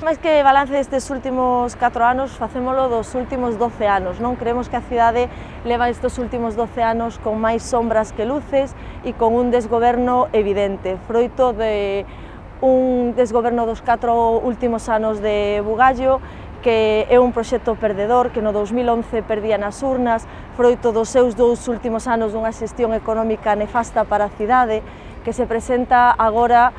Máis que balance destes últimos 4 anos, facémolo dos últimos 12 anos. Non creemos que a cidade leva estes últimos 12 anos con máis sombras que luces e con un desgoberno evidente, froito de un desgoberno dos 4 últimos anos de Bugallo, que é un proxecto perdedor, que no 2011 perdía nas urnas, froito dos seus 2 últimos anos dunha xestión económica nefasta para a cidade, que se presenta agora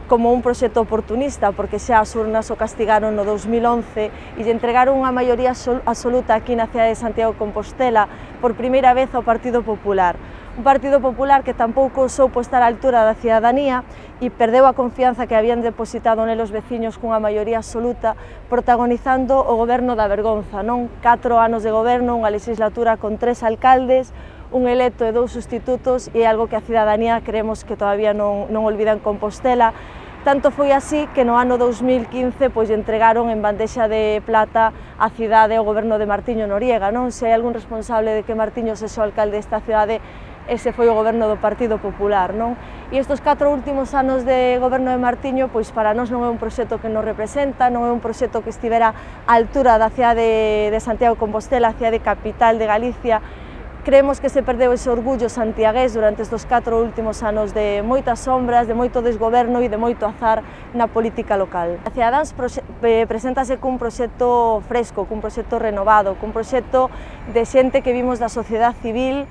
como un proxecto oportunista, porque xa as urnas o castigaron no 2011 e lle entregaron unha maioría absoluta aquí na cidade de Santiago de Compostela por primeira vez ao Partido Popular. Un Partido Popular que tampouco soupo estar á altura da cidadanía e perdeu a confianza que habían depositado nelos veciños cunha maioría absoluta, protagonizando o goberno da vergonza, non? 4 anos de goberno, unha legislatura con 3 alcaldes, un electo e 2 sustitutos, e é algo que a cidadanía creemos que todavía non olvida en Compostela. Tanto foi así que no ano 2015 pois entregaron en bandexa de plata a cidade ao goberno de Martiño Noriega, non? Se hai algún responsable de que Martiño sexa o alcalde desta cidade, ese foi o goberno do Partido Popular, non? E estes 4 últimos anos de goberno de Martiño, pois para nós non é un proxecto que nos representa, non é un proxecto que estivera á altura da cidade de Santiago de Compostela, a cidade capital de Galicia. Creemos que se perdeu ese orgullo santiagués durante estes 4 últimos anos de moitas sombras, de moito desgoberno e de moito azar na política local. A Cidadáns preséntase cun proxecto fresco, cun proxecto renovado, cun proxecto de xente que vimos da sociedade civil,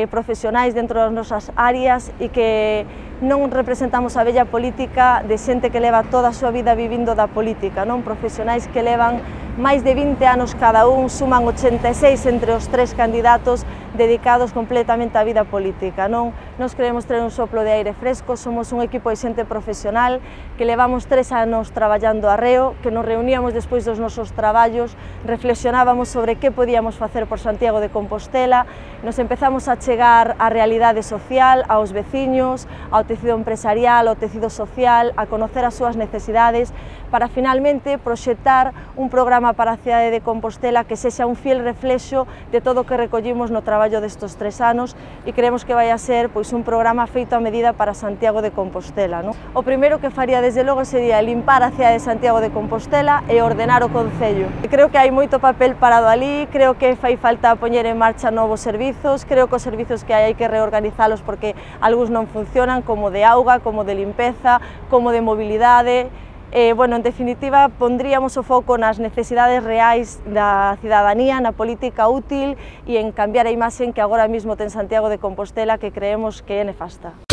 profesionais dentro das nosas áreas e que non representamos a vella política de xente que leva toda a súa vida vivindo da política, non? Profesionais que levan máis de 20 anos cada un, suman 86 entre os 3 candidatos dedicados completamente á vida política, non? Nos queremos ter un soplo de aire fresco, somos un equipo de xente profesional que levamos 3 anos traballando arreo, que nos reuníamos despois dos nosos traballos, reflexionábamos sobre que podíamos facer por Santiago de Compostela, nos empezamos a chegar á realidade social, aos veciños, ao tecido empresarial, ao tecido social, a conocer as súas necesidades, para finalmente proxectar un programa para a cidade de Compostela que sexa un fiel reflexo de todo o que recollimos no traballo destes 3 anos e creemos que vai a ser pois, un programa feito a medida para Santiago de Compostela. Non? O primeiro que faría desde logo sería limpar a cidade de Santiago de Compostela e ordenar o Concello. Creo que hai moito papel parado ali, creo que fai falta poñer en marcha novos servizos, creo que os servizos que hai que reorganizalos porque algúns non funcionan, como de auga, como de limpeza, como de mobilidade. Bueno, en definitiva, pondríamos o foco nas necesidades reais da cidadanía, na política útil e en cambiar a imaxe que agora mesmo ten Santiago de Compostela, que creemos que é nefasta.